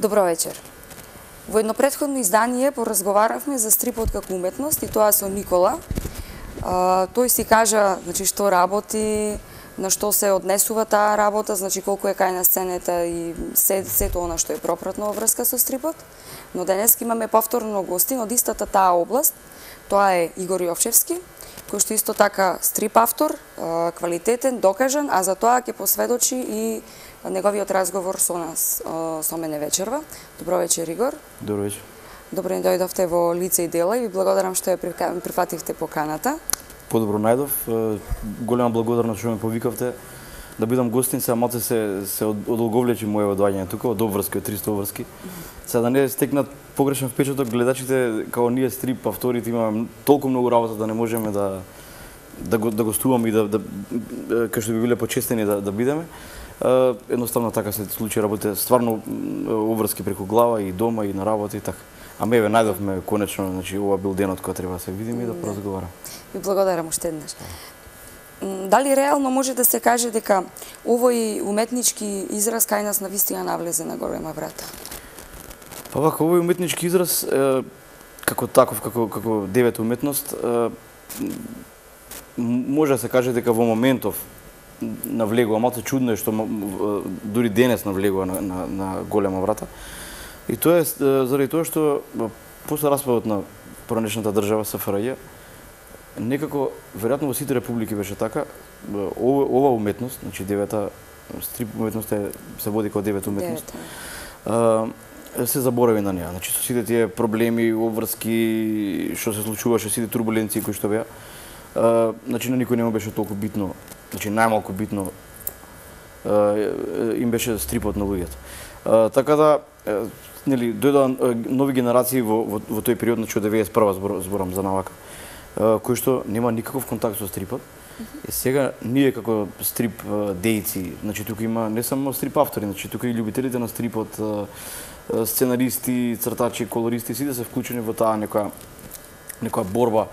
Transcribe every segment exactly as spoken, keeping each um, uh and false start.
Добро вечер. Во едно претходно издание поразговаравме за стрипот како уметност и тоа со Никола. А, тој си кажа, значи, што работи, на што се однесува таа работа, значи колку е кај на сцената и се, сето она што е пропратно во врска со стрипот. Но денес имаме повторно гостин од истата таа област. Тоа е Игор Јовчевски, кој што исто така стрип автор, квалитетен, докажан, а за тоа ќе посведочи и неговиот разговор со нас, со мене вечерва. Добро вечер, Игор. Добро вечер. Добро ни дојдовте во лице и дела и ви благодарам што ја прифативте поканата. Подобро најдов. Голема благодарност што ме повикавте да бидам гостин. Сега малце се се одолговлечи моето доаѓање тука од обврски, од триста обврски. Сега да не стекнат погрешен впечаток гледачите, како ние стрип авторите имаме толку многу работа да не можеме да да го да гостуваме и да да кај што би биле почестени да да бидеме. Uh, едноставно така се случи, работите стварно обврски преку глава и дома и на работа и така. А ме ве најдовме конечно, значи ова бил денот кога треба да се видиме и да поразговараме. Ви благодарам уште еднаш. Дали реално може да се каже дека овој уметнички израз кај нас навистина навлезе на голема врата? Па вака, овој уметнички израз е, како таков, како како девета уметност, е, може да се каже дека во моментов навлегува, малце чудно е што дури денес навлегува на, на, на голема врата. И тоа е заради тоа што после распадот на поранешната држава С Ф Р Ј, некако, веројатно во сите републики беше така, ова, ова уметност, значи девета, стрип уметност е, се води како девета уметност, а, се заборави на неа. Значи, со сите тие проблеми, обврски, што се случуваше, сите турбуленции кои што беа, а, значи, на никој не му беше толку битно, значи најмалку битно им беше стрипот на луѓето. Така да, нели, дојдоа нови генерации во, во, во тој период, значи од деветдесет и прва збор, зборам за навака, кои што нема никаков контакт со стрипот. И сега ние како стрип дејци, значи тука има не само стрип автори, значи тука и љубителите на стрипот, сценаристи, цртачи, колористи, сите се вклучени во таа некоја некоја борба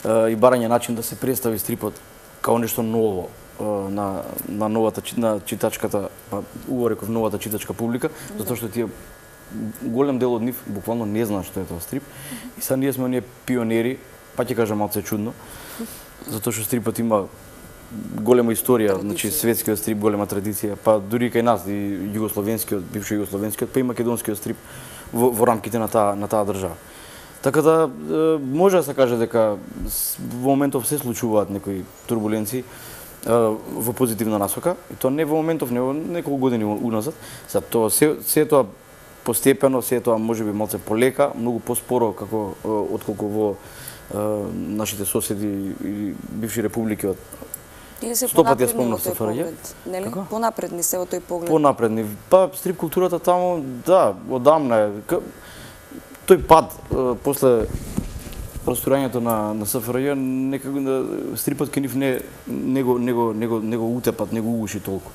и барање начин да се представи стрипот као нешто ново на на новата на читачката, па убаво реков новата читачка публика, затоа што тие голем дел од нив буквално не знаат што е тоа стрип. И сега ние сме оние пионери, па ќе кажам малце чудно, затоа што стрипот има голема историја, значи светскиот стрип, голема традиција, па дури кај нас и југословенскиот, бившо југословенскиот, па и македонскиот стрип во, во рамките на таа на таа држава. Така да може да се каже дека во моментов се случуваат некои турбуленции во позитивна насока, и тоа не во моментов, не во неколку години уназад. Сега тоа се, се тоа постепено, се тоа можеби малце полека, многу поспоро како отколку во нашите соседи и бивши републики од сто пати ја спомнав С Ф Р Ј. Нели? Понапредни се во тој поглед. Понапредни. Па стрип културата таму, да, одамна е. Тој пад после просторањето на на С Ф Р Ј, некако стрипот кај нив не него него него него утепат, него угуши толку.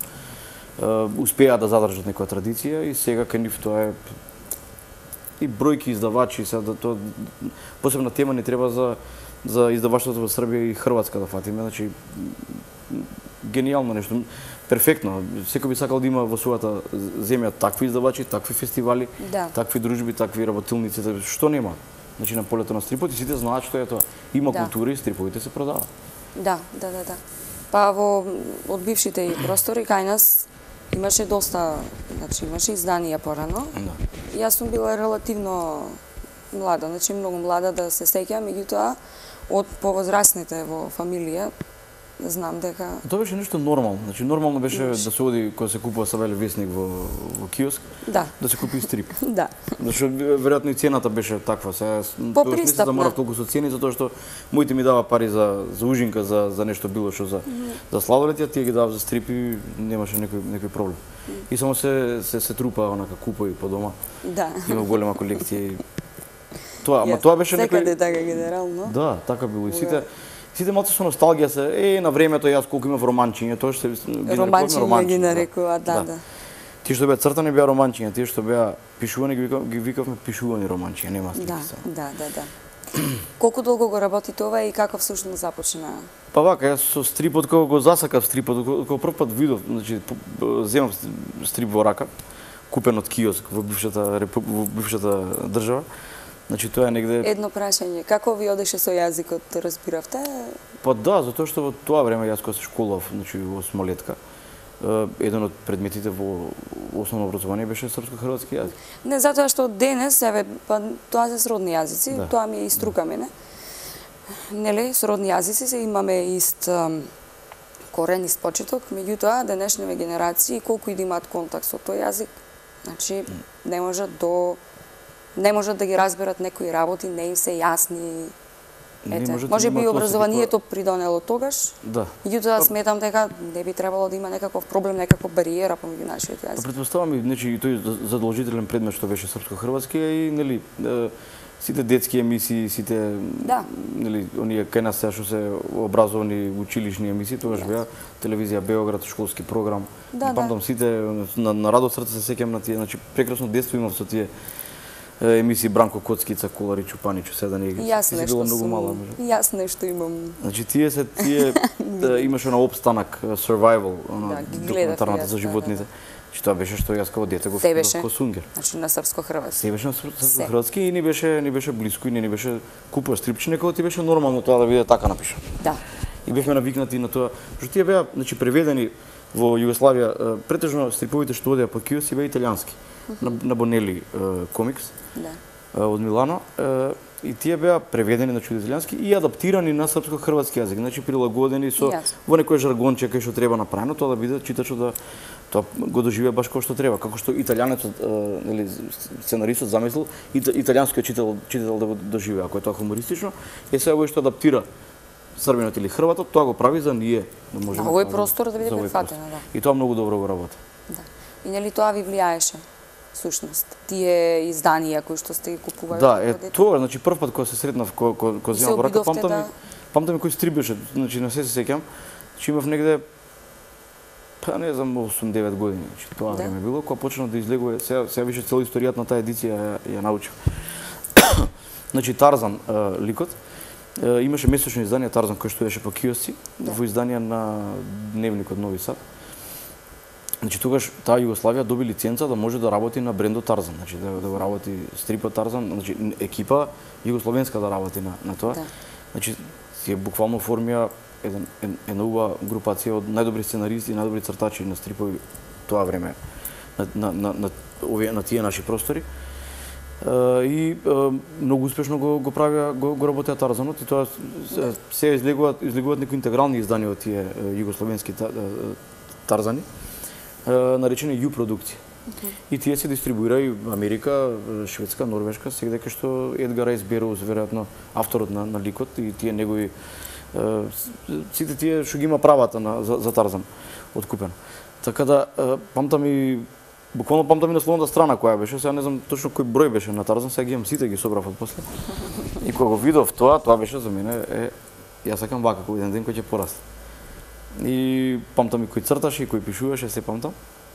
Успеа да задржат некоја традиција и сега кај нив тоа е и бројки издавачи, сега да тоа посебна тема не треба за за издаваштвото во Србија и Хрватска да фатиме, значи гениално нешто, перфектно. Секој би сакал да има во својата земја такви издавачи, такви фестивали, да, такви дружби, такви работилници, што нема. Значи на полето на стрипот и сите знаат што е тоа. Има да, култура и стриповите се продаваат. Да, да, да, да. Па во од бившите и простори кај нас имаше доста, значи имаше изданија порано. Да. Јас сум била релативно млада, значи многу млада да се сеќам, меѓутоа од повозрасните во фамилија знам дека Тоа беше нешто нормално. Значи нормално беше Имаш. да се оди кога се купува Савеле весник во во киоск, да, да се купи стрип. Да. Зашто веројатно и цената беше таква. Сега тоа не се заморав толку со цени затоа што моите ми дава пари за за ужинка, за за нешто било што за mm -hmm. за сладолед, тие ги давав за стрип и немаше некој некој проблем. Mm -hmm. И само се се се трупа онака купови по дома. Да. Има голема колекција. Тоа, ама yes, тоа беше некој секаде така генерално. Да, така било и сите сите малце со носталгија се е на времето јас колку имав романчиња, тоа што ги романчиња ги нарекуваат, да, да. Тие што беа цртани беа романчиња, тие што беа пишувани ги, викав, ги викавме пишувани романчиња, нема стих. Да, да, да, да. Колку долго го работи тоа и како всушност започна? Па вака, јас со стрипот кога го засакав стрипот, кога прв пат видов, значи земав стрип во рака, купен од киоск во бившата репу... во бившата држава. Значи тоа е негде Едно прашање, како ви одеше со јазикот, разбиравте? Па да, затоа што во тоа време јас кога се школав, значи во осмолетка, еден од предметите во основно образование беше српско-хрватски јазик. Не, затоа што денес, еве, па тоа се сродни јазици, Да. тоа ми е и струка мене. Нели, сродни јазици се имаме ист ам, корен, ист почеток, меѓутоа денешниве генерации колку и да имаат контакт со тој јазик, значи не можат до не можат да ги разберат некои работи, не им се јасни. Ете, може би образованието придонело тогаш. Да. Меѓутоа сметам дека не би требало да има некаков проблем, некаква бариера помеѓу нашиот јазик. Претпоставам и значи и тој задолжителен предмет што беше српско-хрватски и нели сите детски емисии, сите Да. нели оние кај нас сега што се образовни училишни емисии, тогаш беа телевизија Београд, школски програм. Да, Памтам да. сите на, на радо срце се сеќам на тие, значи прекрасно детство имав со тие емисии Бранко Коцкица, Колари Чупаничу, седа не ги. Јас Си нешто била многу сум, мала, може. јас нешто имам. Значи тие се тие да, имаше на обстанак survival, она Да, ги гледав документарната јас, за да, животните. Значи тоа беше што јас како дете го Се беше. ко сунгер. Значи на српско-хрватски. Се беше на српско-хрватски и ни беше ни беше блиску и не ни беше купуваш стрипче, некој ти беше нормално тоа да биде така напишано. Да. И бевме навикнати на тоа, што тие беа значи преведени во Југославија, претежно стриповите што одеа по киоси беа италијански. На, на Бонели комикс. Да. Од Милано и тие беа преведени на италијански и адаптирани на српско-хрватски јазик, значи прилагодени со Јасно. во некој жаргонче кај што треба направено, тоа да биде читачот да тоа го доживее баш како што треба, како што италијанецот нели сценаристот замислил и италијанскиот читател читател да го доживее, ако е тоа хумористично, е сега овој што адаптира србинот или хрватот, тоа го прави за ние, да можеме. На овој простор да биде за овој прифатено, простор. да. И тоа многу добро го работи. Да. И нели тоа ви влијаеше? Сушност, тие изданија кои што сте ги купувале. Да, е како дете? тоа, значи прв пат кога се сретнав кога кога кога Се земав во рака, обидовте памтам да- ми памтам ми кој стрип беше, значи на се се сеќам, че имав негде па не знам осум-девет години, значи тоа Да. време било кога почна да излегува, сега сега више цела историјата на таа едиција ја, ја научив. Значи Тарзан е, ликот е, имаше месечно издание Тарзан кој што беше по киосци, Да. во издание на Дневникот Нови Сад. Значи тогаш таа Југославија доби лиценца да може да работи на брендот Тарзан, значи да, да го работи стрипот Тарзан, значи екипа југословенска да работи на на тоа. Да. Значи тие буквално формија еден една убава групација од најдобри сценаристи и најдобри цртачи на стрипови тоа време на на на на, овие, на тие наши простори. Uh, и uh, многу успешно го го правеа го, го работеа Тарзанот и тоа се, се излегуваат излегуваат некои интегрални изданија од тие uh, југословенски та, uh, Тарзани, uh, наречени Ю продукција. Okay. И тие се дистрибуира и Америка, Шведска, Норвешка, сегде кај што Едгар Райс Бероуз, веројатно авторот на, на ликот и тие негови uh, сите тие што ги има правата на за, за Тарзан откупено. Така да uh, памтам и буквално памтам и насловната страна која беше, сега не знам точно кој број беше на Тарзан, сега ги имам сите, ги собрав од после. И кога го видов тоа, тоа беше за мене е јас сакам вака кој еден ден кој ќе порасте. И памтам и кој црташе и кој пишуваше, се памтам.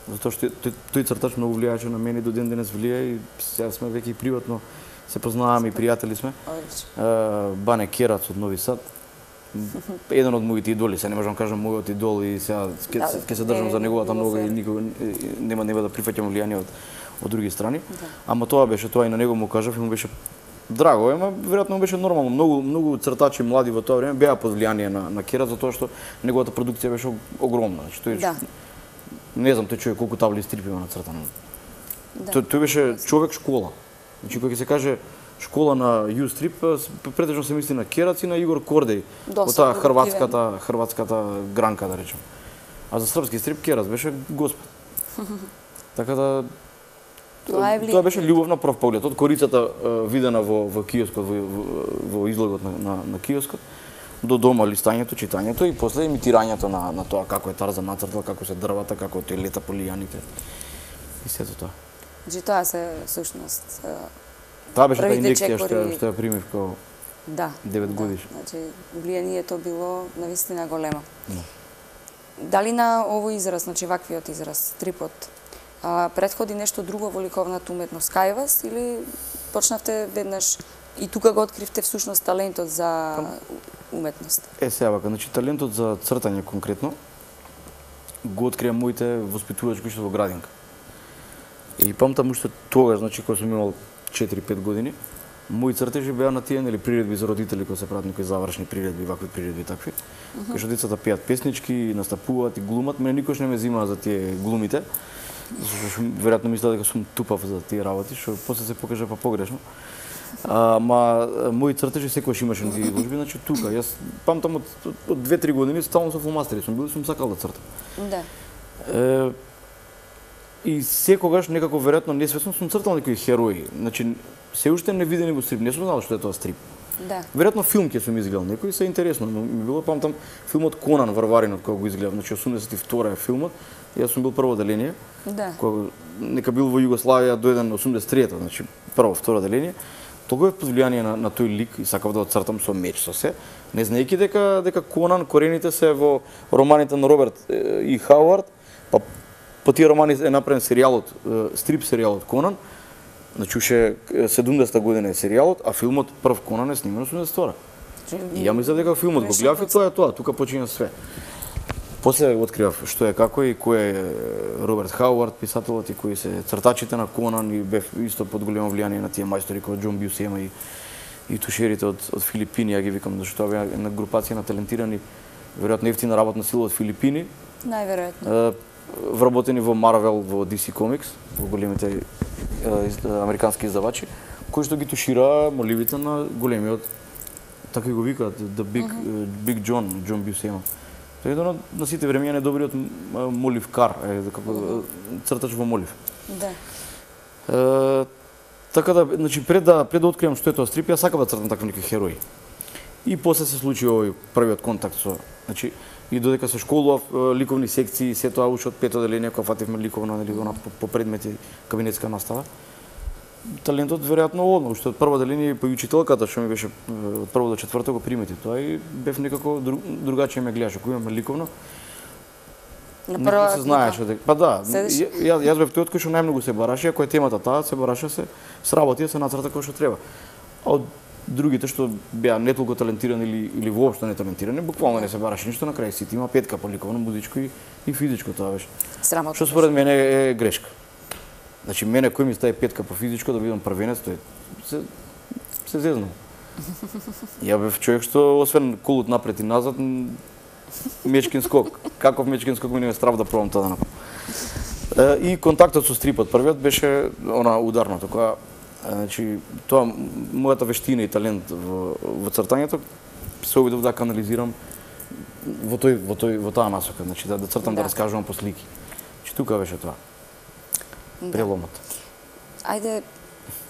Затоа што тој, тој цртач многу влијаеше на мене и до ден денес влијае и сега сме веќе и приватно се познаваме и пријатели сме. Одлично. Бане Керац од Нови Сад. Еден од моите идоли, се не можам кажам мојот идол и сега ќе Да, ќе се држам е, за неговата било нога и фер. никога нема нема да прифаќам влијание од од други страни. Да. Ама тоа беше тоа и на него му кажав и му беше драго, ема веројатно му беше нормално. Многу многу цртачи млади во тоа време беа под влијание на на Керац затоа што неговата продукција беше огромна. Значи тој Да. не знам тој човек колку табли стрип има нацртано. Да. Тој, тој беше човек школа. Значи кога ќе се каже школа на Ю стрип, претежно се мисли на Керац и на Игор Кордеј. Доста Во таа продуктивен. хрватската хрватската гранка да речем. А за српски стрип Керац беше господ. Така да Тоа е влијание. тоа беше љубов на прв поглед. Од корицата е, видена во во киоскот во, во, во излогот на, на на киоскот до дома листањето, читањето и после имитирањето на на тоа како е Тарзан нацртал, како се дрвата, како тој лета по лијаните. И сето тоа. Значи тоа се сушност. е, Таа беше таа Првите инjekција што чекори- ја- што ја примив како Да. девет да. годиш. Значи влијанието било навистина големо. Да. Дали на овој израз, значи ваквиот израз, стрипот, а, предходи нешто друго во ликовната уметност кај вас или почнавте веднаш и тука го откривте всушност талентот за уметност? Е, сега вака, значи талентот за цртање конкретно го открија моите воспитувачки што во градинка. И памтам уште тогаш, значи кога сум имал четири-пет години, мои цртежи беа на тие нели приредби за родители кои се прават некои завршни приредби, вакви приредби такви. Uh -huh. Кај што децата пеат песнички, настапуваат и глумат, мене никош не ме зимаа за тие глумите. Зашто веројатно мислеа дека сум тупав за тие работи, што после се покажа па погрешно. А, ма мои цртежи секогаш имаше на изложби, значи тука. Јас памтам од, од две-три години стално со фломастери сум бил, сум сакал да цртам. Да. Е, и секогаш некако веројатно несвесно сум цртал некои херои. Значи се уште невидени во стрип, не сум знал што е тоа стрип. Да. Веројатно филм ќе сум изгледал некој, се интересно, но ми било памтам филмот Конан Варваринот кога го изгледав, значи осумдесет и втора е филмот. Јас сум бил прво деление. Да. Кога нека бил во Југославија дојден осумдесет и трета, значи прво, второ деление. Толку е под влијание на, на тој лик и сакав да го цртам со меч со се, не знаејќи дека дека Конан корените се во романите на Роберт и Хауард, па по тие романи е направен серијалот, стрип серијалот Конан. Значи уште седумдесета година е серијалот, а филмот прв Конан е снимен осумдесет и втора. И ја мислев дека филмот го гледав и тоа е тоа, тука почиња све. После откривав што е како и кој е Роберт Хауард, писателот, и кои се цртачите на Конан, и бев исто под големо влијание на тие мајстори како Џон Бјусема и и тушерите од од Филипини, ја ги викам, зашто тоа беа една групација на талентирани, веројатно ефтина работна сила од Филипини. Најверојатно. Вработени во Марвел, во Ди Си Комикс, во големите американски издавачи, кои што ги тушира моливите на големиот, така и го викаат, The Big, uh -huh. Big John, Џон Бјусема. Тој е еден на сите времења најдобриот моливкар, е, како цртач во молив. Да. Е, така да, значи пред да пред да откривам што е тоа стрип, јас сакав да цртам такви некои херои. И после се случи овој првиот контакт со, значи и додека се школував ликовни секции, се тоа уште од пето деление кога фативме ликовна, нели, она по, по предмети кабинетска настава. Талентот веројатно одма, уште од прво деление по учителката што ми беше од прво до четврто го примети тоа и бев некако друг, другачие ме гледаше, кога имаме ликовно. На прва се знаеше дека па да, Седиш... ја, јас бев тој кој што најмногу се бараше, ако е темата таа, се бараше се сработи, се нацрта кој што треба. А од другите што беа не толку талентирани или или воопшто не талентирани, буквално не се бараше ништо, на крај сите има петка по ликовно, музичко и, и физичко, тоа беше. Срамотно. Што според мене е грешка. Значи мене кој ми стави петка по физичко да бидам првенец, тој се се зезнал. Ја бев човек што освен колут напред и назад, мечкин скок. Каков мечкин скок ми не ме страв да пробам тоа да направам. И контактот со стрипот првиот беше она ударното, кога значи тоа мојата вештина и талент во, во цртањето се обидов да канализирам во тој во тој во таа насока, значи да, да цртам, да, да раскажувам по слики. Значи тука беше тоа. Преломот. Ајде,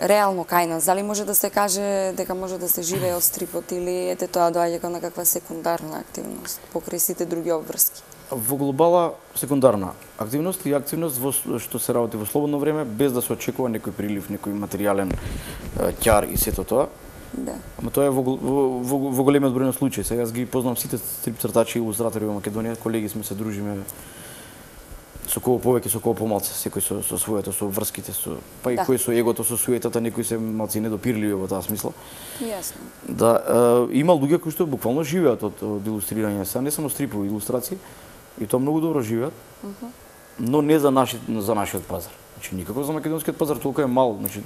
реално кај нас, дали може да се каже дека може да се живее од стрипот или ете тоа доаѓа како некаква секундарна активност покрај сите други обврски? Во глобала секундарна активност и активност во што се работи во слободно време без да се очекува некој прилив, некој материјален ќар и сето тоа. Да. Ама тоа е во, во, во, во големиот број на случаи. Сега јас ги познавам сите стрип цртачи и илустратори во Македонија, колеги сме се дружиме со кого повеќе, со кого помалце, секој со, со своето, со врските, со, па и да. Кој со егото, со суетата, некои се малци недопирливи во таа смисла. Јасно. Да, е, има луѓе кои што буквално живеат од, од илустрирање, сега не само стрипови илустрации, и тоа многу добро живеат, uh -huh. но не за наши, за нашиот пазар. Значи никако за македонскиот пазар, толку е мал, значи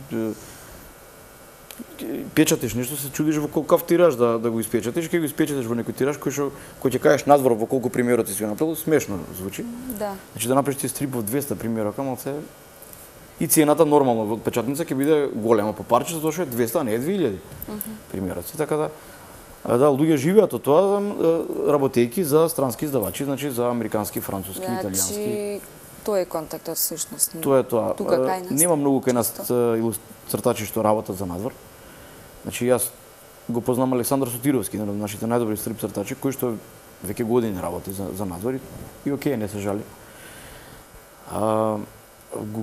печатиш нешто, се чудиш во колкав тираж да да го испечатиш, ќе го испечатиш во некој тираж кој што кој ќе кажеш надвор во колку примерот ти си го направил, смешно звучи. Да. Значи да направиш ти стрип во двесте примерока, малце и цената нормално во печатница ќе биде голема по парче, затоа што е двесте, а не е две илјади. Uh -huh. Примероци, така да да луѓе живеат од тоа работејки за странски издавачи, значи за американски, француски, значи, италијански. Тоа е контактот всушност. Тоа е тоа. Тука кај нас. Нема многу кај нас цртачи што работат за надвор. Значи јас го познам Александар Сотировски, еден од нашите најдобри стрип цртачи, кој што веќе години работи за за надвор и окей, не се жали. А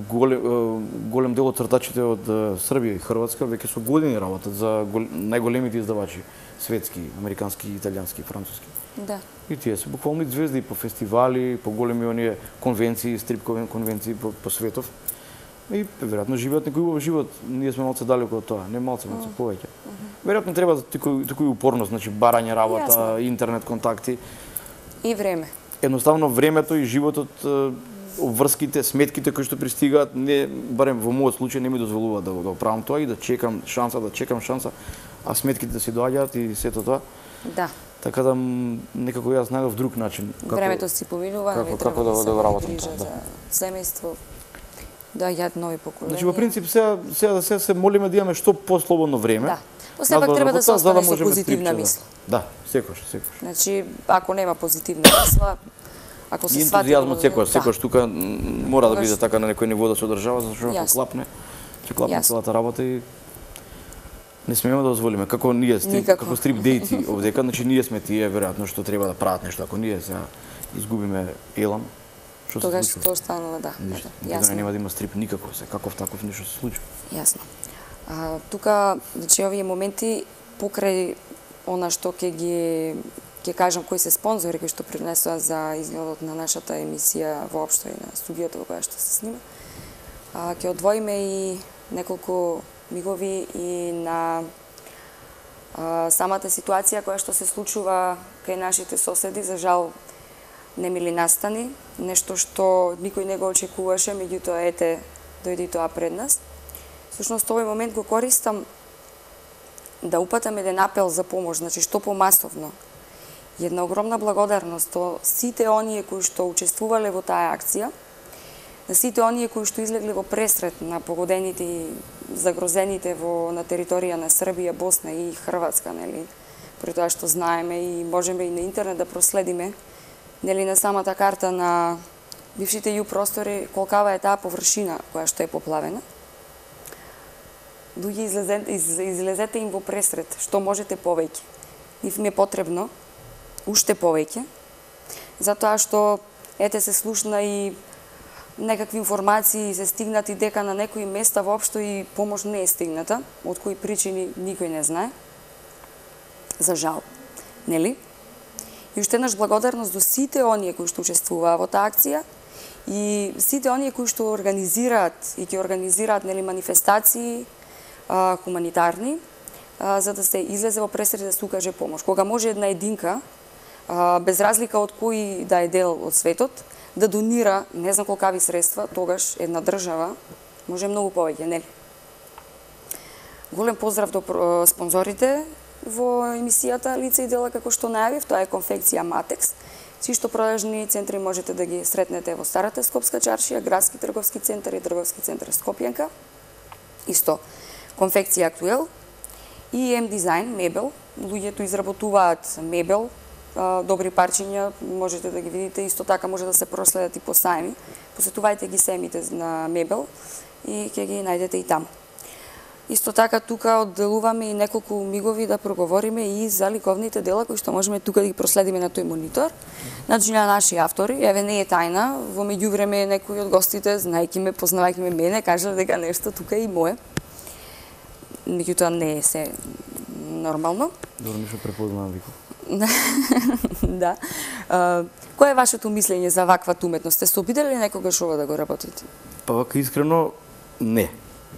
голем, голем дел од цртачите од Србија и Хрватска веќе со години работат за гол, најголемите издавачи светски, американски, италијански, француски. Да. И тие се буквално и звезди по фестивали, по големи оние конвенции, стрип конвенции по, по светов. И веројатно живеат некој убав живот, ние сме малце далеко од тоа, не малце, малце повеќе. Веројатно треба тој тој упорност, значи барање работа, Јасно. интернет контакти и време. Едноставно времето и животот обврските, сметките кои што пристигаат, не барем во мојот случај не ми дозволува да го правам тоа и да чекам шанса, да чекам шанса, а сметките си доаѓаат и сето тоа. Да. Така да некако јас најдов друг начин. Како, времето си поминува, како, не како треба да, да, да да работам грижа тоа, да. за семејство. Да, јад нови поколенија. Значи во принцип сега сега да се се молиме да имаме што послободно време. Да. Но сепак треба да се остане со позитивна мисла. Да, секогаш, секогаш. Значи, ако нема позитивна мисла, ако се свати ентузијазмот секогаш, да. секогаш тука мора да биде така на некој ниво да се одржава, зашто ако клапне, ќе клапне целата работа и не смееме да дозволиме. Како ние стрип, Никако. како стрип дејци овдека, значи ние сме тие веројатно што треба да прават нешто. Ако ние сега изгубиме елам, што се тогаш случува? тоа станува, да. Ништо. Да, јасно. Нема да има стрип никако, се каков таков ништо се случува. Јасно. А, тука, значи, овие моменти покрај она што ќе ги ќе кажам кои се спонзори кои што принесоа за изгледот на нашата емисија воопшто и на студиото во која што се снима. А, ќе одвоиме и неколку мигови и на а, самата ситуација која што се случува кај нашите соседи, за жал немили настани, нешто што никој не го очекуваше, меѓутоа ете дојде и тоа пред нас. Всушност овој момент го користам да упатам еден апел за помош, значи што помасовно. Една огромна благодарност до сите оние кои што учествувале во таа акција, на сите оние кои што излегле во пресрет на погодените и загрозените во на територија на Србија, Босна и Хрватска, нели? При тоа што знаеме и можеме и на интернет да проследиме, нели, на самата карта на бившите ју простори колкава е таа површина која што е поплавена. Луѓе, излезете, из, излезете им во пресрет, што можете повеќе. Нив ми е потребно уште повеќе, затоа што ете се слушна и некакви информации се стигнати дека на некои места воопшто и помош не е стигната, од кои причини никој не знае. За жал, нели? И уште еднаш благодарност до сите оние кои што учествуваа во таа акција и сите оние кои што организираат и ќе организираат, нели, манифестации а, хуманитарни, а, за да се излезе во пресрет да се укаже помош. Кога може една единка, а, без разлика од кој да е дел од светот, да донира не знам колкави средства, тогаш една држава може многу повеќе, нели? Голем поздрав до спонзорите во емисијата Лице и дела, како што најавив, тоа е конфекција Матекс. Си што продажни центри можете да ги сретнете во Старата Скопска чаршија, Градски трговски центар и Трговски центар Скопјанка. Исто, конфекција Актуел и М Дизајн, мебел. Луѓето изработуваат мебел, добри парчиња, можете да ги видите, исто така може да се проследат и по сајми. Посетувајте ги сајмите на мебел и ќе ги најдете и таму. Исто така тука одделуваме и неколку мигови да проговориме и за ликовните дела кои што можеме тука да ги проследиме на тој монитор. Значи на наши автори, еве не е тајна, во меѓувреме некои од гостите, знаејќи ме, познавајќи ме мене, кажале дека нешто тука е и мое. Меѓутоа не е се нормално. Добро, нешто препознавам вико. Да. А, кое е вашето мислење за ваква уметност? Сте се обидели ли некогаш ова да го работите? Па вака искрено не.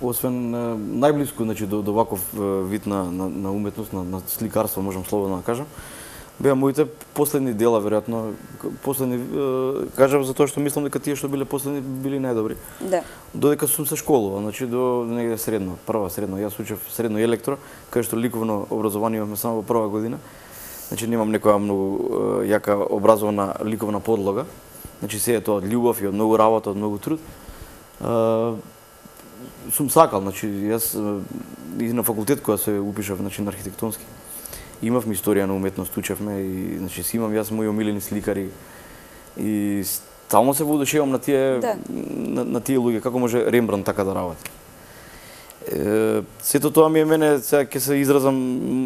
Освен најблиску, значи, до, до ваков вид на, на, на уметност, на, на сликарство, можам слободно да кажам, беа моите последни дела, веројатно, последни, кажав за тоа што мислам дека тие што биле последни били најдобри. Да. Додека сум се школувал, значи до негде средно, прва средно, јас учев средно електро, кај што ликовно образование имаме само во прва година. Значи немам некоја многу јака образована ликовна подлога. Значи се е тоа од љубов и од многу работа, од многу труд. Сум сакал, значи јас и на факултет која се упишав, значи на архитектонски. Имавме историја на уметност, учевме и значи си имам јас мои омилени сликари и стално се воодушевам на тие да. на, на тие луѓе, како може Рембрандт така да работи. Е, сето тоа ми е мене, сега ќе се изразам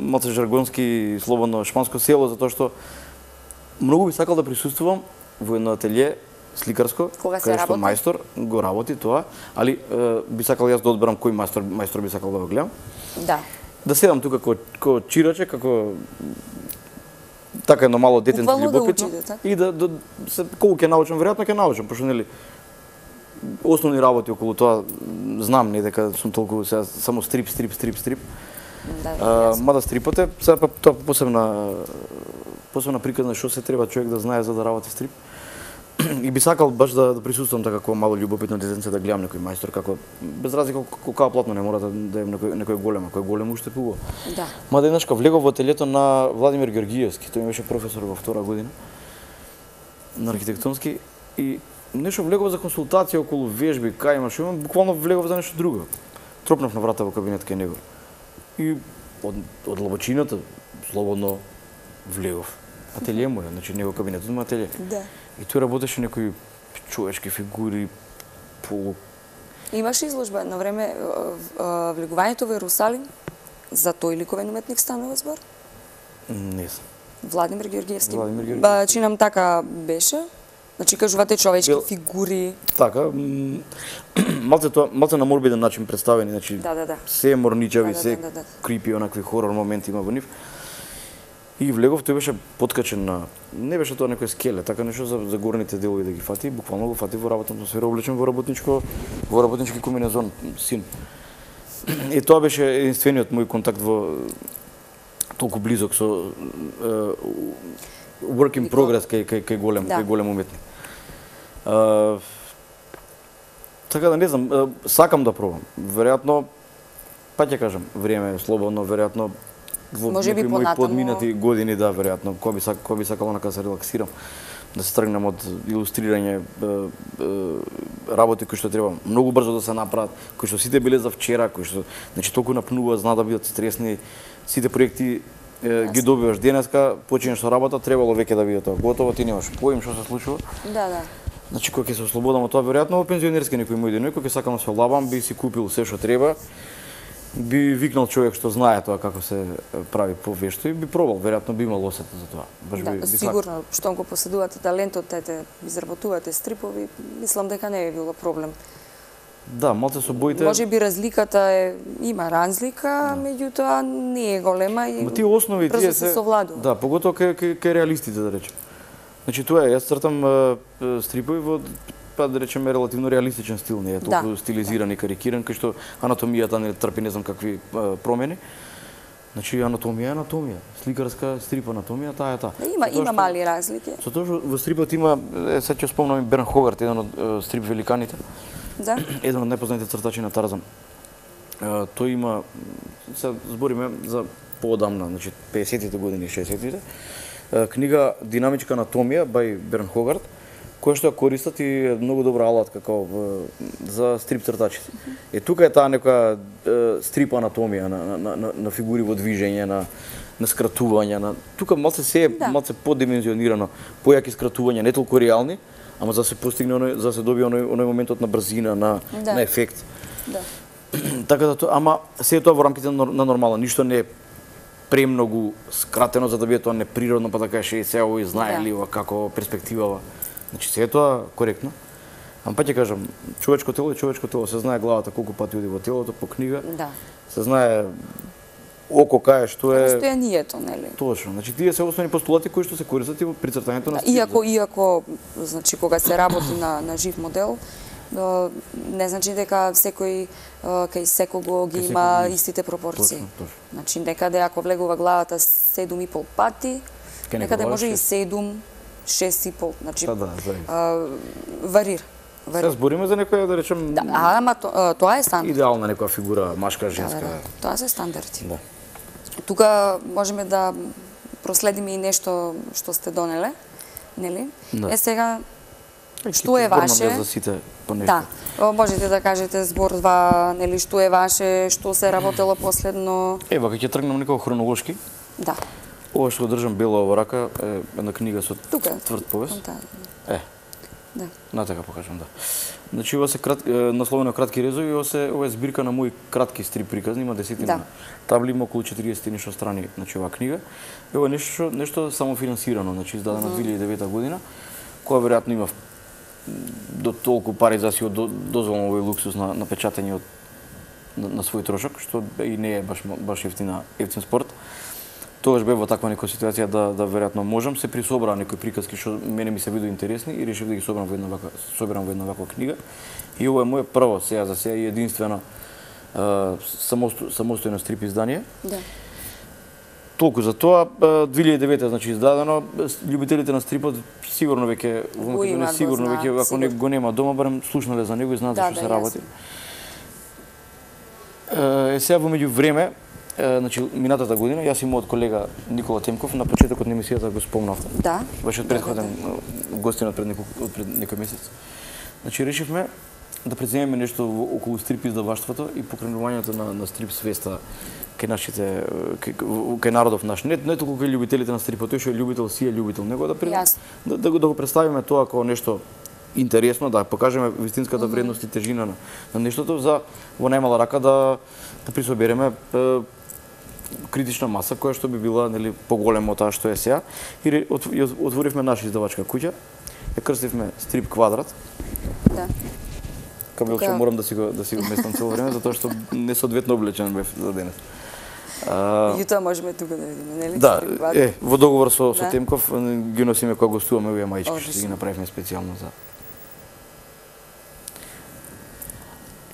малце жаргонски, слободно шпанско село, затоа што многу би сакал да присуствувам во едно ателје сликарско, кај што мајстор го работи тоа, али е, би сакал јас да одберам кој мајстор, мајстор би сакал да го гледам. Да. Да седам тука како, како чираче, како така едно мало детенце љубопитно да и да, да се колку ќе научам, веројатно ќе научам, пошто нели основни работи околу тоа знам, не дека сум толку сега само стрип, стрип, стрип, стрип. Да, а, мада стрипот е сега па тоа посебна посебна приказна што се треба човек да знае за да работи стрип. и би сакал баш да, да присуствувам така како мало љубопитно детенце да гледам некој мајстор како без разлика колку платно не мора да, да е некој некој голем, кој голем уште пува. Да. Мада еднашка влегов во ателјето на Владимир Георгиевски, тој беше професор во втора година на архитектонски и нешто влегов за консултација околу вежби, кај имаш, имам буквално влегов за нешто друго. Тропнав на врата во кабинет кај него. И од од длабочината слободно влегов. Ателје му е, значи него кабинетот има ателје. Да. И тој работеше некои човечки фигури, полу... Имаше изложба на време влегувањето во Ерусалим за тој ликовен уметник станува збор? Не знам. Владимир Георгиевски. Владимир Георгиевски. Ба, чинам така беше. Значи кажувате човечки Бил... фигури. Така, малце тоа, малце на морбиден начин представени, значи Да, да, да. се морничави, Да, да, се да, да, да. крипи, онакви хорор моменти има во нив. И влегов, тој беше подкачен на, не беше тоа некој скеле, така нешто за, за горните делови да ги фати, буквално го фати во работна атмосфера, облечен во работничко, во работнички комбинезон, син. И тоа беше единствениот мој контакт во толку близок со uh, work in progress кај кај кај голем, да. кај голем уметник. Uh, така да не знам, uh, сакам да пробам. Веројатно, па ќе кажам, време е слободно, веројатно во може би мои понатаму подминати години, да, веројатно, кој би сак, кој би сакал онака да се релаксирам, да се тргнем од илустрирање е, е, работи кои што треба многу брзо да се направат, кои што сите биле за вчера, кои што значи толку напнува, знаат да бидат стресни, сите проекти е, ги добиваш денеска, починеш со работа, требало веќе да биде тоа готово, ти немаш поим што се случува. Да, да. Значи кога ќе се ослободам од тоа, веројатно во пензионерски некој мој ден, кога ќе сакам да се лабам, би си купил се што треба. Би викнал човек што знае тоа како се прави повешто и би пробал, веројатно би имал осета за тоа. Баш да, би, би сигурно, штом го поседувате талентот, ете, изработувате стрипови, мислам дека не би било проблем. Да, малце со боите. Може би разликата е, има разлика, да. Меѓутоа не е голема и ма тие основи тие се совладува. Да, поготово кај кај кај реалистите да речем. Значи тоа е, јас цртам е, стрипови во па да речеме релативно реалистичен стил, не е толку да. Стилизиран и карикиран, кај што анатомијата не трпи не знам какви а, промени. Значи анатомија е анатомија, сликарска стрип анатомија, таа е таа. Да, има има што, мали разлики. Со тоа што во стрипот има, е, сега ќе спомнам Берн Хогарт, еден од е, стрип великаните. Да. Еден од најпознатите цртачи на Тарзан. Е, тој има, се збориме за поодамна, значи педесетите години, шеесеттите. Книга Динамичка анатомија бај Берн Хогарт, која што ја користат и е многу добра алатка како за стрип цртачите. Е тука е таа некоја стрип анатомија на, на, на, на фигури во движење, на на скратување, на тука малце се да. Малце подимензионирано, појаки скратувања, не толку реални, ама за да се постигне оној, за да се добие оној оној моментот на брзина, на да. На ефект. Да. Така да тоа, ама се е тоа во рамките на, на нормално, ништо не е премногу скратено за да биде тоа неприродно, па да кажеш се овој знае ли ова како перспективава. Значи се е тоа коректно. Ама па ќе кажам, човечко тело е човечко тело, се знае главата колку пати оди во телото по книга. Да. Се знае око кај што е постојанието, нели? Точно. Значи тие се основни постулати кои што се користат и во прицртањето на стил. Иако иако значи кога се работи на на жив модел, не значи дека секој кај секого ги има истите пропорции. Точно, точно. Значи некаде ако влегува главата седум и пол пати, некаде може и седум, шест и пол, значи да, да, а, варира. Се збориме за некоја да речем да, ама то, тоа е стандард. Идеална некоја фигура, машка, женска. Да, да, да. Тоа се стандарди. Да. Тука можеме да проследиме и нешто што сте донеле, нели? Да. Е сега што е ваше? За сите по нешто. Да. Можете да кажете збор два, нели, што е ваше, што се работело последно? Ева, кога ќе тргнам некако хронолошки. Да. Ова што го држам бело во рака е една книга со тука тврд повес. Е. Да. На така покажам, да. Значи ова се крат, насловено кратки резови, ова се ова е збирка на мои кратки стрип приказни, има десетина да. Табли, има околу четириесет и нешто страни, значи оваа книга. Ова е нешто нешто самофинансирано, значи издадено mm -hmm. две илјади и девета година, која веројатно има до толку пари за си дозволно овој луксус на, на печатање од на, на свој трошок, што и не е баш баш ефтина ефтин спорт. Тогаш бев во таква некоја ситуација да да веројатно можам, се присобраа некои приказки што мене ми се видоа интересни и решив да ги соберам во една ваква соберам во една ваква книга. И ова е моје прво сега за сега и единствено самостојно стрип издание. Да. Толку за тоа, две илјади и девета значи издадено, љубителите на стрипот сигурно веќе во Го Македонија имаат, го сигурно знаат, веќе ако сигурно. не го нема дома, барем слушнале за него и знаат Да, што да, се јасно. работи. Е, сега во меѓувреме, е, значи минатата година, јас и мојот колега Никола Темков на почетокот на емисијата го спомнавте. Да. Беше од предходен гостинот пред некој пред некој месец. Значи решивме да преземеме нешто во- околу стрип издаваштвото и покренувањето на на стрип свеста кај нашите кај, кај народов наш. Не не толку кај љубителите на стрипот, тој што е љубител си е љубител, него да пред, Јасно. да, да го да го представиме тоа како нешто интересно, да покажеме вистинската вредност и тежина на, на нештото за во најмала рака да да присобереме е, критична маса која што би била нели поголема од таа што е сега и ре- от- и отворивме наша издавачка куќа, ја крстивме Стрип Квадрат. Да. Кабел Тука- што морам да си го да си го местам цело време затоа што несоодветно облечен бев за денес. А, Јутоа можеме тука да видиме, нели? да, Стрип квадрат. е, во договор со со Да. Темков ги носиме кога гостуваме овие маички што Одлично. ги направивме специјално за.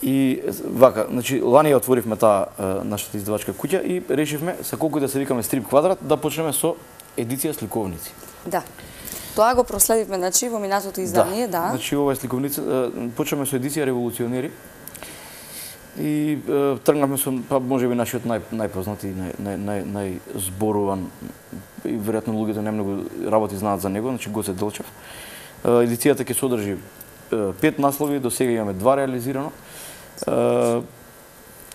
И вака, значи лани ја отворивме таа е, нашата издавачка куќа и решивме се колку и да се викаме Стрип Квадрат да почнеме со едиција сликовници. Да. Тоа го проследивме, значи, во минатото издание, да. Значи ова е сликовница, е, почнеме со едиција Револуционери. И е, тргнавме со па можеби нашиот нај најпознат и нај нај нај најзборуван и веројатно луѓето немногу работи знаат за него, значи Гоце Делчев. Е, Едицијата ќе содржи е, пет наслови, до сега имаме два реализирано. Е,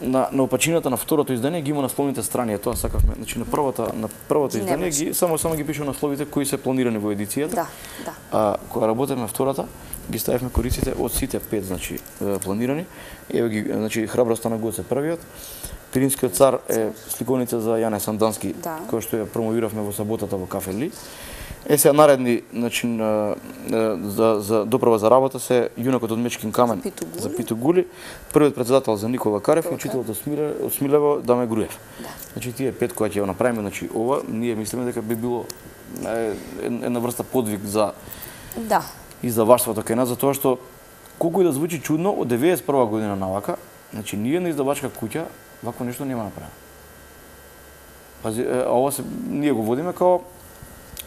на на опачината на второто издание ги има насловните страни, е тоа сакавме. Значи на првата на првото Ги издание немаше. ги само само ги пише насловите кои се планирани во едицијата. Да, да. А кога работевме втората, ги ставивме кориците од сите пет, значи е, планирани. Ево ги, значи Храброста на Гоце првиот. Пиринскиот цар е сликовница за Јане Сандански, Да. која што ја промовиравме во саботата во Кафе Ли. Е сега наредни, значи на, на, за за доправа за работа се Јунакот од Мечкин камен За Питу Гули. за Питу Гули, првиот председател за Никола Карев и Така. учителот од Смиле, од Смилево Даме Груев. Да. Значи тие пет кои ќе ја направиме, значи ова ние мислиме дека би било е, една врста подвиг за Да. издаваштвото кај нас, затоа што колку и да звучи чудно, од деветдесет и прва година навака, значи ние на издавачка куќа вакво нешто нема направено. Пази, е, а ова се ние го водиме као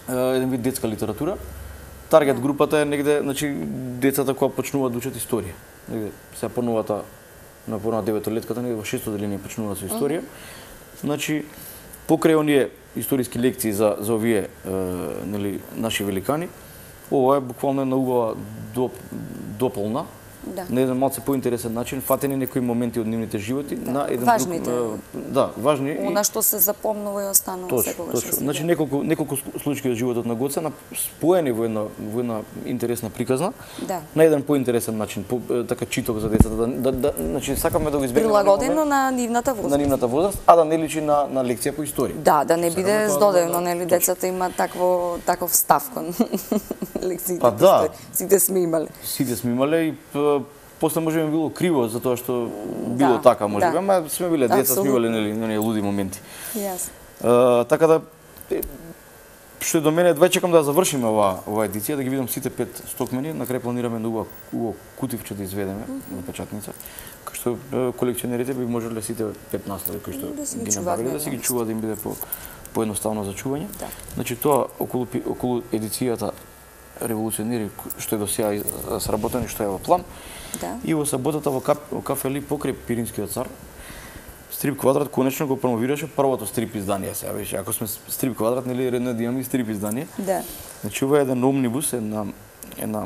е, еден вид детска литература. Таргет групата е негде, значи децата кои почнуваат да учат историја. Негде се понувата на порна деветолетката, негде во шесто деление почнуваат со историја. Значи покрај оние историски лекции за за овие е, нели наши великани, ова е буквално една убава доп, дополна, Да. на еден малце поинтересен начин, фатени некои моменти од нивните животи Да. на еден Важните. друг, е, да, важни и Она што се запомнува и останува точно, секогаш. точно. во Значи следот. неколку неколку случаи од животот на Гоце на споени во една во една интересна приказна, Да. на еден поинтересен начин, по, е, така читок за децата, да, да, да значи сакаме да го избегнеме Прилагодено на нивната на возраст. нивната возраст, а да не личи на на лекција по историја. Да, да не биде Сакаме тоа здодевно, да- нели, децата има такво таков став кон лекциите. Па да. Сите сме имале. Сите сме имале и п, после може би било криво затоа што било Да, така може би, да. ама сме биле деца, сме Апсолутно. имале нели оние луди моменти. Јас. Uh, така да е, што е до мене, едва чекам да ја завршиме оваа оваа едиција, да ги видам сите пет стокмени, на крај планираме на убаво убаво кутивче да изведеме на печатница, кај што е, колекционерите би можеле сите пет наслови кои што Да си ги ги чуваат набавиле на да си ги едно чуваат да им биде по поедноставно за чување. Да. Значи тоа околу пи- околу едицијата Револуционери што е до сега из- сработено и што е во план. Да. И во саботата во Кап, во Кафе Ли покрај Пиринскиот цар, Стрип Квадрат конечно го промовираше првото стрип издание сега веќе. Ако сме Стрип Квадрат, нели редно е да имаме и стрип издание. Да. Значи ова е еден омнибус, една една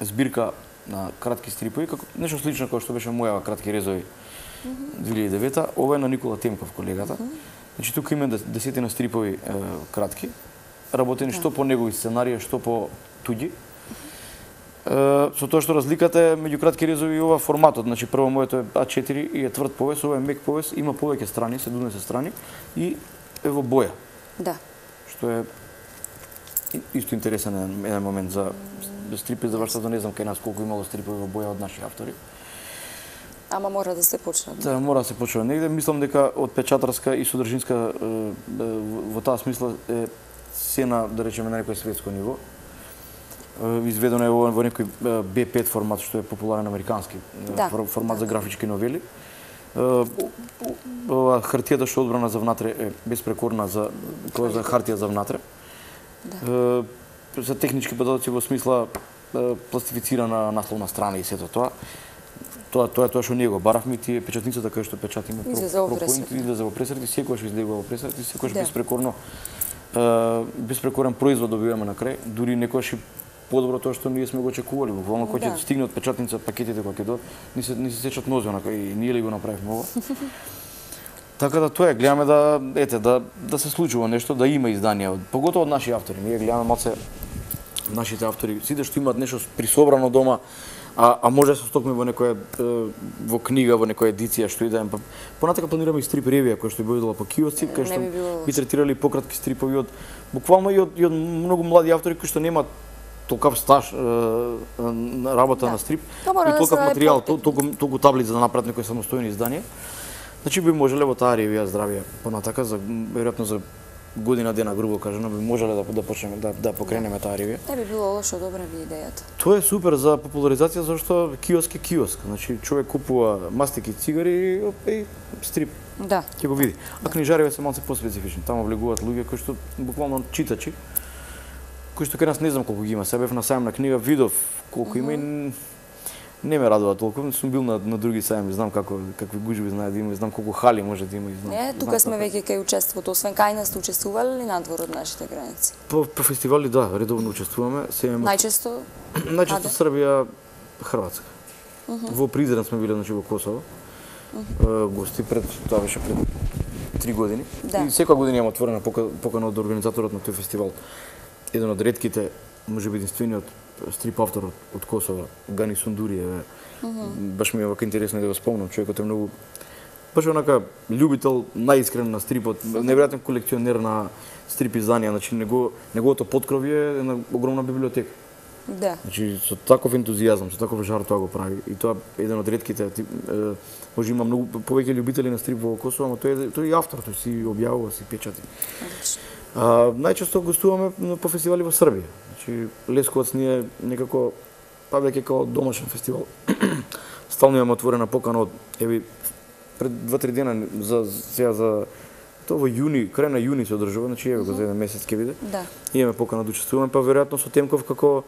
збирка на кратки стрипови, како нешто слично како што беше моја кратки резови две илјади и девета, ова е на Никола Темков колегата. Значи тука има дес- десетина стрипови е, кратки, работени што по негови сценарија, што по туѓи. Е, со тоа што разликата е меѓу кратки резови и ова форматот, значи прво моето е А четири и е тврд повес, ова е мек повес, има повеќе страни, седумдесет страни и е во боја, Да. што е и- исто интересен еден, еден момент за стрипи за вршата, не знам кај нас колку имало стрипови во боја од наши автори. Ама мора да се почне. Да, мора да се почне негде. Мислам дека од печатарска и содржинска е, е, во таа смисла е се на, да речеме, на некој светско ниво. Е, Изведено е во, во некој е, Б пет формат, што е популарен американски е, Да, фор- формат да, за графички новели. Е, Ова хартијата што е одбрана за внатре е безпрекорна за тоа за хартија за внатре. Да. Е, за технички податоци во смисла пластифицирана насловна страна и сето тоа. Тоа тоа тоа што ние го баравме, тие печатницата кај што печатиме пропоинт излезе во пресрати, секогаш излегува во пресрати, секогаш да. Беспрекорно е, беспрекорен производ добиваме на крај, дури некојаш и подобро тоа што ние сме го очекували. Буквално кога ќе да. Стигне од печатница пакетите кога ќе додат, ни се ни се сечат нозе онака и ние ли го направивме ова. Така да тоа е, гледаме да ете да да се случува нешто, да има изданија, поготово од наши автори. Ние гледаме малце нашите автори, сите што имаат нешто присобрано дома, а а може да се стокме во некоја во книга, во некоја едиција што и да е. Понатака планираме и стрип ревија која што би бидела по киосци, кај што би третирали пократки стрипови од буквално и од, и од многу млади автори кои што немаат толкав стаж на работа да. На стрип и толкав материјал, толку толку таблици да направат некои самостојни изданија. Значи би можеле во таа ревија здравје понатака за веројатно за година дена грубо кажано би можеле да да почнеме да да покренеме таа ревија. Не би било лошо, добра би идејата. Тоа е супер за популаризација зашто киоск е киоск. Значи човек купува мастики, цигари и стрип. Да. Ќе го види. А книжариве се малку поспецифични. Таму влегуваат луѓе кои што буквално читачи кои што кај нас не знам колку ги има. Се бев на сајм на книга, видов колку има и не ме радува толку. Сум бил на, на други сајми, знам како какви гужви знае да има, и знам колку хали може да има и знам. Не, тука сме веќе кај учеството, освен кај нас сте учествувале ли надвор од нашите граници? По, по фестивали да, редовно учествуваме. Се Најчесто? Најчесто Србија, Хрватска. Uh -huh. Во Призрен сме биле значи во Косово. Uh -huh. Гости пред тоа беше пред три години. Да. И секоја година имам отворена покана од организаторот на тој фестивал. Еден од ретките, можеби единствениот стрип автор од, од Косово, Гани Сундури, е, uh -huh. баш ми е вака интересно да го спомнам, човекот е многу баш онака љубител, најискрен на стрипот, неверојатен колекционер на стрип изданија, значи него неговото поткровје е една огромна библиотека. Да. Значи со таков ентузијазам, со таков жар тоа го прави и тоа е еден од ретките, може има многу повеќе љубители на стрип во Косово, но тој е тој е автор, тој си објавува, си печати. Одлично. А, најчесто гостуваме по фестивали во Србија. Значи Лесковац ни е некако па веќе како домашен фестивал. Стално имаме отворена покана од еви пред два-три дена за сега за тоа во јуни, крај на јуни се одржува, значи еве го за еден месец ќе биде. Да. Имаме покана да учествуваме, па веројатно со Темков како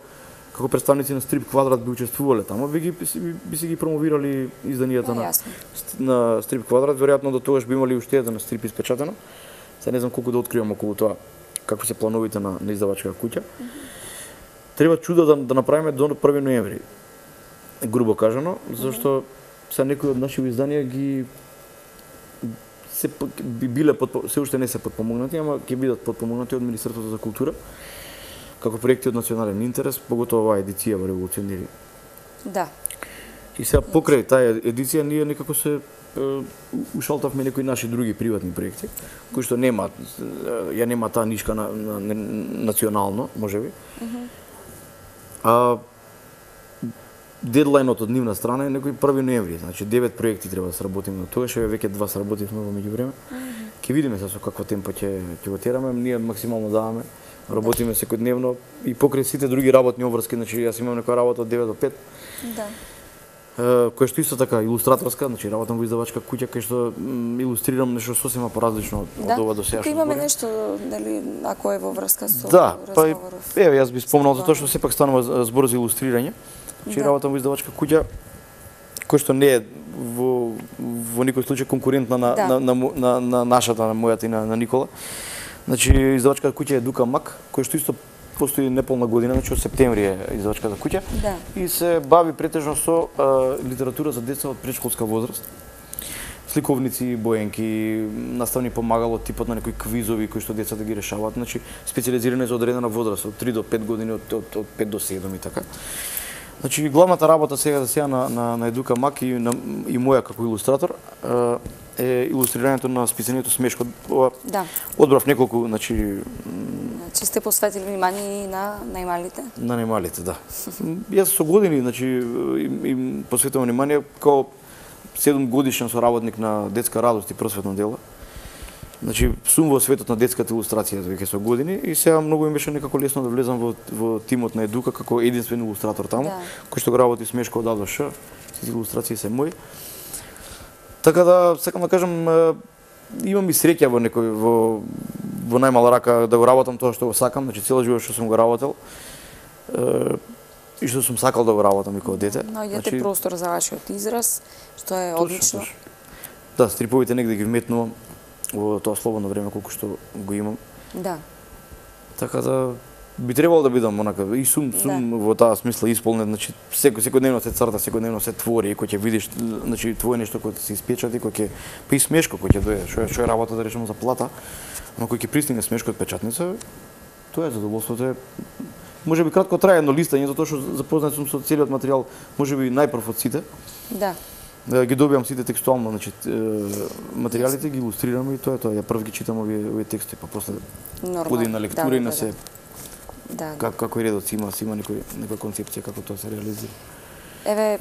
како представници на Стрип Квадрат би учествувале таму, би ги би, би си ги промовирали изданијата на на Стрип Квадрат, веројатно до тогаш би имали уште еден стрип испечатено. Се не знам колку да откривам околу тоа, какви се плановите на, на издавачка куќа. Mm -hmm. Треба чудо да, да направиме до први ноември, грубо кажано, зашто се некои од наши изданија ги се би биле подпо, се уште не се подпомогнати, ама ќе бидат подпомогнати од Министерството за култура како проекти од национален интерес, поготово оваа едиција во Револуционери. Да. И сега покрај таа едиција ние некако се ушалтавме некои наши други приватни проекти, кои што нема, ја нема таа нишка на, на, на национално, можеби. Uh -huh. А дедлајнот од нивна страна е некој први ноември, значи девет проекти треба да сработиме. Тогаш веќе два сработивме во меѓувреме. Uh -huh. Ќе видиме се со какво темпо ќе ќе го тераме, ние максимално даваме. Работиме секојдневно и покрај сите други работни обврски, значи јас имам некоја работа од девет до пет. Да. Кој што исто така илустраторска, значи работам во издавачка куќа кај што илустрирам нешто сосема поразлично од, да? од ова до сега. Тука имаме нешто, нели, ако е во врска со да, разговоров. Да, па еве јас би спомнал за тоа што сепак станува збор за илустрирање. Значи да. Работам во издавачка куќа кој што не е во во никој случај конкурентна на, да. на, на, на, на нашата, на мојата и на, на Никола. Значи издавачка куќа е Дука Мак, кој што исто постои неполна година, значи од септември е издавачката куќа. Да. И се бави претежно со а, литература за деца од претшколска возраст. Сликовници, боенки, наставни помагало, типот на некои квизови кои што децата ги решаваат, значи специализиране за одредена возраст од три до пет години, од, од, од пет до седум и така. Значи главната работа сега за сега на на, на Едука Мак и на и моја како илустратор е илустрирањето на списанието Смешко. Ова, да. Одбрав неколку, значи Значи сте посветили внимание и на најмалите? На најмалите, да. Јас со години, значи им, им посветувам внимание како седум годишен соработник на Детска радост и просветно дело. Значи сум во светот на детската илустрација веќе со години и сега многу ми беше некако лесно да влезам во во тимот на Едука како единствен илустратор таму, да. Кој што го работи Смешко од А до Ш, сите илустрации се мои. Така да сакам да кажам имам и среќа во некој во во најмала рака да го работам тоа што го сакам, значи цела живот што сум го работел. И што сум сакал да го работам и како дете. Наоѓате значи, простор за вашиот израз, што е точно, одлично. Точно. Да, стриповите негде ги вметнувам во тоа слободно време колку што го имам. Да. Така да би требало да бидам онака и сум сум да. Во таа смисла исполнет, значи секој секојдневно се црта, секојдневно се твори, кој ќе видиш, значи твое нешто кој се испечати, кој ќе па и смешко кој ќе дојде, што е што е работа да речеме за плата, но кој ќе пристигне смешко од печатница, тоа е задоволството е можеби кратко трае едно листање затоа што запознат сум со целиот материјал, можеби најпрв од сите. Да. Ги добивам сите текстуално, значи материјалите ги илустрирам и тоа е тоа. Ја прв ги читам овие овие текстови, па после оди на лектура да, и на се. Да. Как како редот има, си има некој некоја концепција како тоа се реализира. Еве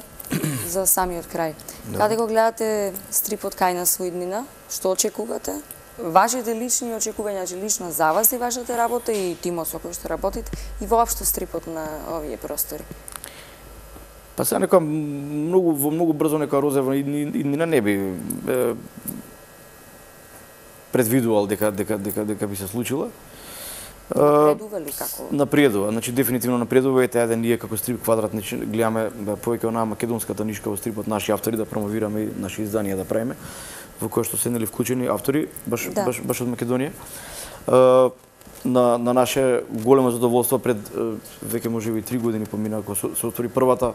за самиот крај. Да. Каде го гледате стрипот кај на својднина? Што очекувате? Вашите лични очекувања, значи лично за вас и вашата работа и тимот со кој што работите и воопшто стрипот на овие простори? Па сега нека многу во многу брзо нека Розева и на не би е, предвидувал дека дека дека дека би се случила. Напредува ли како? Напредува, значи дефинитивно напредува и таа ние како Стрип Квадрат значи, гледаме повеќе онаа македонската нишка во стрипот, наши автори да промовираме и наши изданија да правиме, во кои што се нели вклучени автори баш да. баш баш од Македонија. Uh, на на наше големо задоволство пред uh, веќе можеби три години помина кога се отвори првата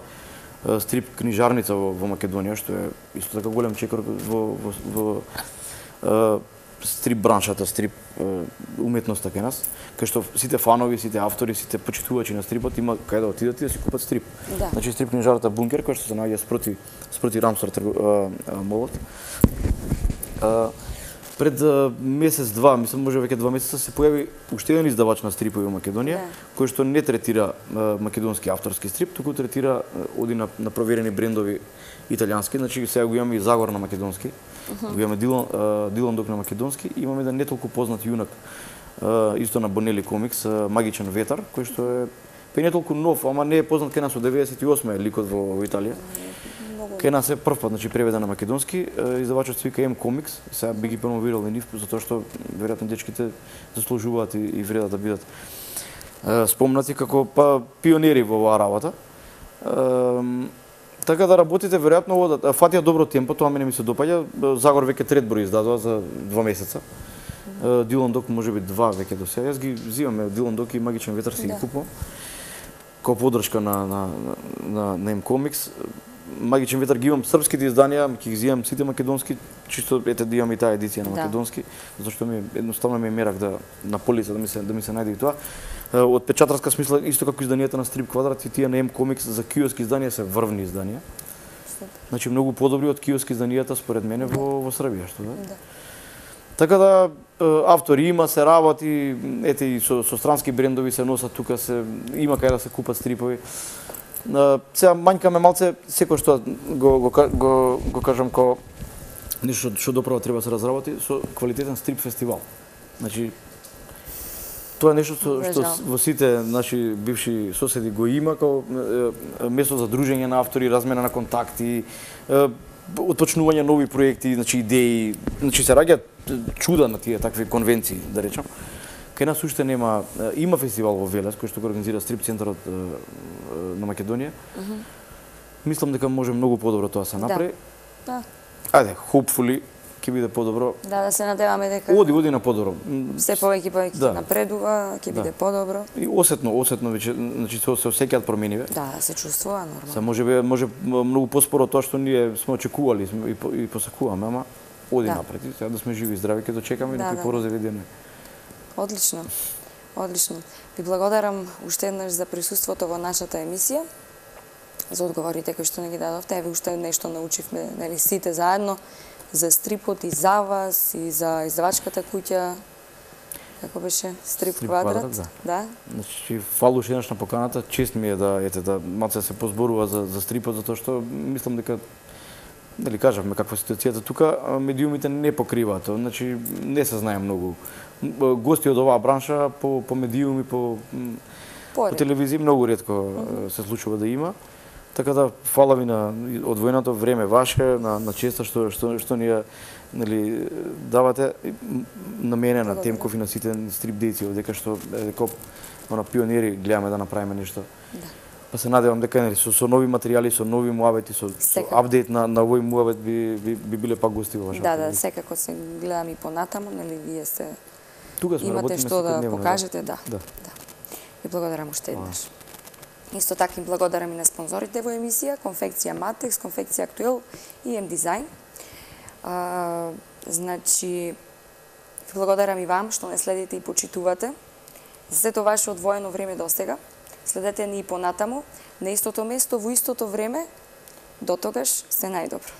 uh, стрип книжарница во, во Македонија, што е исто така голем чекор во во, во uh, стрип браншата, стрип uh, уметноста кај нас, кај што сите фанови, сите автори, сите почитувачи на стрипот има кај да отидат и да си купат стрип. Да. Значи стрип книжарата Бункер која што се наоѓа спроти спроти Рамстор молот. Uh, пред uh, месец два, мислам може веќе два месеца се појави уште еден издавач на стрипови во Македонија, да. Кој што не третира uh, македонски авторски стрип, туку третира uh, оди на, на проверени брендови италијански, значи сега го имаме и Загор на македонски, uh -huh. Го имаме Дилан, uh, Дилан Док на македонски, имаме еден не толку познат јунак uh, исто на Бонели комикс, uh, Магичен ветар, кој што е па не толку нов, ама не е познат кај нас од деветдесет и осма е ликот во, во Италија. Кај нас е прв пат, значи преведен на македонски, издавачот се вика М Комикс, сега би ги промовирал и нив, затоа што веројатно дечките заслужуваат и, и вредат да бидат е, спомнати како па пионери во оваа работа. Е, така да работите веројатно да фатија добро темпо, тоа мене ми се допаѓа. Загор веќе трет број издадува за два месеца. Е, Дилан Док можеби два веќе до сега. Јас ги взимаме Дилан Док и Магичен ветар си да. Ги купувам. Како поддршка на на на, на М Комикс. Магичен ветар ги имам српските изданија, ќе ги земам сите македонски, чисто ете да имам и таа едиција на македонски, да. Затоа што ми едноставно ми е мерак да на полица да ми се да ми се најде и тоа. Од печатарска смисла исто како изданијата на Стрип Квадрат и тие на М Комикс за киоски изданија се врвни изданија. Значи многу подобри од киоски изданијата според мене во во Србија, што да. Да. Така да автори има, се работи, ете и со со странски брендови се носат тука, се има кај да се купат стрипови. Uh, сега мањкаме малце секој што го го го го кажам ко нешто што доправо треба да се разработи со квалитетен стрип фестивал. Значи тоа е нешто што, што во сите наши бивши соседи го има како е, место за дружење на автори, размена на контакти, е, отпочнување нови проекти, значи идеи, значи се раѓаат чуда на тие такви конвенции, да речам. Кај нас уште нема, има фестивал во Велес кој што го организира Стрип центарот на Македонија. Uh -huh. Мислам дека може многу подобро тоа се направи. Да. Да. Ајде, hopefully ќе биде подобро. Да, да се надеваме дека Оди, оди на подобро. Се повеќе повеќе да. Напредува, ќе биде да. Подобро. И осетно, осетно веќе, значи се се осеќаат промениве. Да, се чувствува нормално. Се можеби може многу поспоро тоа што ние сме очекували и и посакуваме, ама оди да. Напред. Сега да сме живи и здрави ќе дочекаме да, некои да. Порозеви денови. Одлично. Одлично. Ви благодарам уште еднаш за присуството во нашата емисија, за одговорите кои што не ги дадовте. Еве уште нешто научивме, нели сите заедно за стрипот и за вас и за издавачката куќа. Како беше Стрип, Стрип Квадрат? Квадрат да. Да. Значи фала уште еднаш на поканата. Чест ми е да ете да малце се позборува за за стрипот затоа што мислам дека нели кажавме каква ситуацијата тука, медиумите не покриваат, значи не се знае многу. Гости од оваа бранша по по медиуми, по по телевизија многу ретко mm -hmm. се случува да има. Така да, фала ви на одвоеното време ваше, на, на честа што, што, што ни ја нели, давате на мене, на Темков и на сите стрип дејци, дека што дека она пионери гледаме да направиме нешто. Да. Па се надевам дека нели со, со нови материјали, со нови муабети, со, со апдейт на на овој муабет би, би би биле пак гости во вашата. Да, да, секако се гледам и понатаму, нели вие сте тука сме, имате што да покажете, да. Да. Да. Ви благодарам уште еднаш. Исто така им благодарам и на спонзорите во емисија, Конфекција Матекс, Конфекција Актуел и М Дизајн. А, значи, ви благодарам и вам што не следите и почитувате. За сето ваше одвоено време достега. Следете ни и понатаму, на истото место, во истото време. До тогаш, се најдобро.